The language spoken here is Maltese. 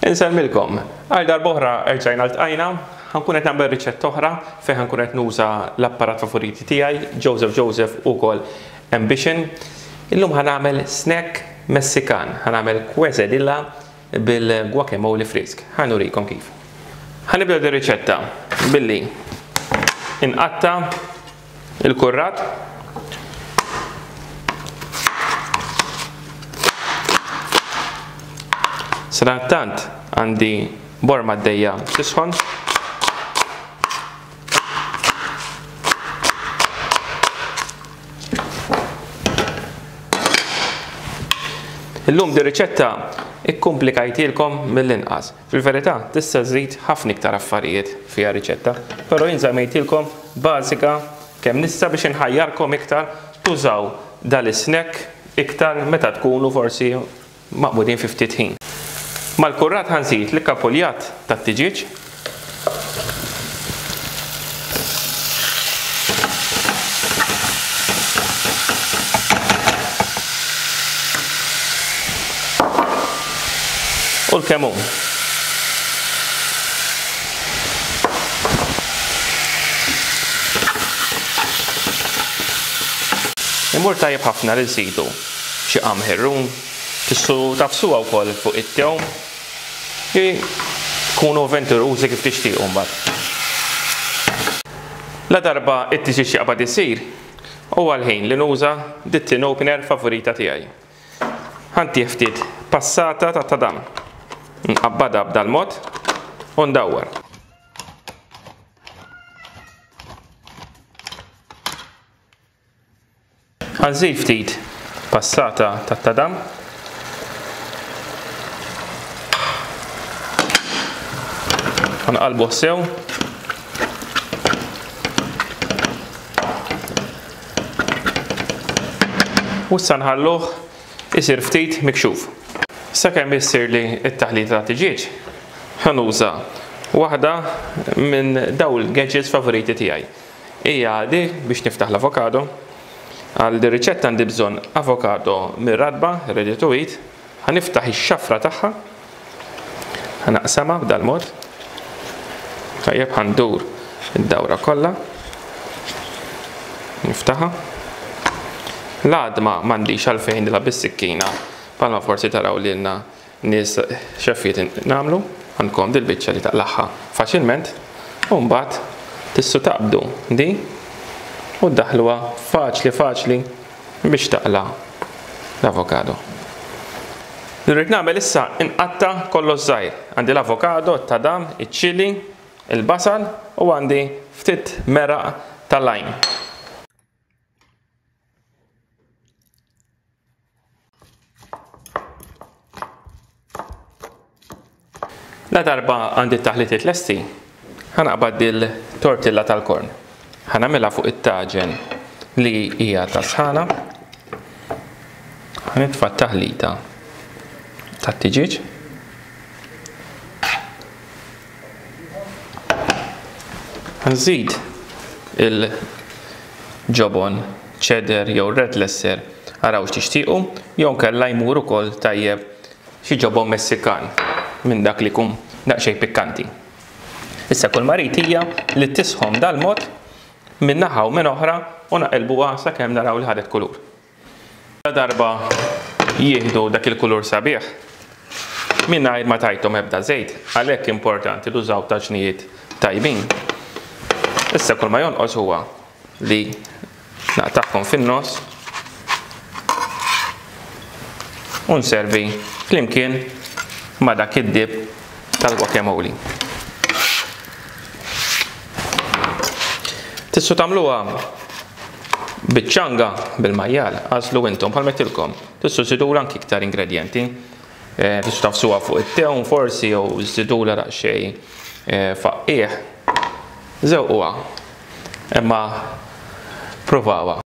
Insellmilkom. Għal darb'oħra erġajna ltqajna, ħa nkun qed nagħmel riċetta oħra fejn ħa nkun qed nuża l-apparat favoriti tiegħi, Joseph Joseph ukoll Ambition. Illum ħa nagħmel snack Messikan, ħa nagħmel quesadilla bil-guacamole frisk. Ħa nurikom kif. Ħa nibda di riċetta billi inqatta' il-kurrat Sadanittant għandi borma għaddejja tisħon. Illum di riċetta ikkumplikajtilkom mill-inqas. Fil-verità tista' żżid ħafna iktar affarijiet fiha riċetta, però jien żammejtilkom bażika kemm nista' biex inħajjarkom iktar tużaw dal-isnack iktar meta tkunu forsi maqbudin fi ftit ħin. Mal-kurrat ħa nżid l-ikkapuljat tat-tiġieġ. U l-kemun. Imur tajjeb ħafna li nżidu xi qamħirrun, tistgħu tagħfsuha wkoll fuq it-tewm. Kunu avventurużi kif tixtiequ mbagħad. Ladarba t-tiġieġ jaqbad isir, huwa l-ħin li nuża dit-tin opener favorita tiegħi. Ħa ntih ftit passata ta' tadam. Nqabbadha b'dal-mod u ndawwar. Ħa nżid ftit passata tat-tadam. Ħa nqallbuh sew. U issa nħalluh isir ftit mikxuf. Sakemm issirli t-taħlita ta' tiġieġ, ħa nuża waħda minn dawn il-gadgets favoriti tiegħi. Hija di biex niftaħ l-avokado. Għal di riċetta għandi bżonn avokado mir-ratba, ready to eat. Ħa niftaħ ix-xafra tagħha. Ħa naqsamha b'dal-mod. Tajjeb ħa ndur id-dawra kollha. Niftaħha. L-għadma m'għandix għalfejn nilgħab bis-sikkina bħalma forsi taraw lilna nies xeffiet nagħmlu. Għandkom dil-biċċa li taqlagħha faċilment u mbagħad tistgħu taqbdu di u ddaħħluha faċli faċli biex taqla' l-avokado. Li rrid nagħmel issa inqatta' kollox żgħir. Għandi l-avokado, it-tadam, iċ-ċili, il-basal u għandi ftit meraq tal-lime. Ladarba għandi t-taħlitiet lesti, ħa naqbad dil-tortilla tal-korn. Ħa nagħmilha fuq it-taġen li hija ta' sħana. Ħa nitfa' t-taħlita tat-tiġieġ. Nżid il-ġobon cheddar jew red lesser araw x'tixtiequ, jew inkella jmur ukoll tajjeb xi ġobon Messikan minn dak li jkun daqsxejn pikkanti. Issa kull ma rrid hija li tisħon dal-mod minn naħa u minn oħra u naqilbuha sakemm naraw li ħadet kulur. Ladarba jieħdu dak il-kulur sabiħ, mingħajr ma tajthom ebda żejt, għalhekk importanti tużaw taġnijiet tajbin. Issa kull ma jonqos huwa li naqtagħhom fin-nofs u nservi flimkien ma' dak id-dip tal-guacamole. Tistgħu tagħmluha Biċ-ċanga, bil-majjal, għażlu intom, bħalma għedtilkom. Tistgħu żidulha anki iktar ingredjenti. Eh, tistgħu tafsuha fuq it-tewm forsi jew żidulha daqsxejn eh, faqqiegħ. Żewquha. Imma provawha.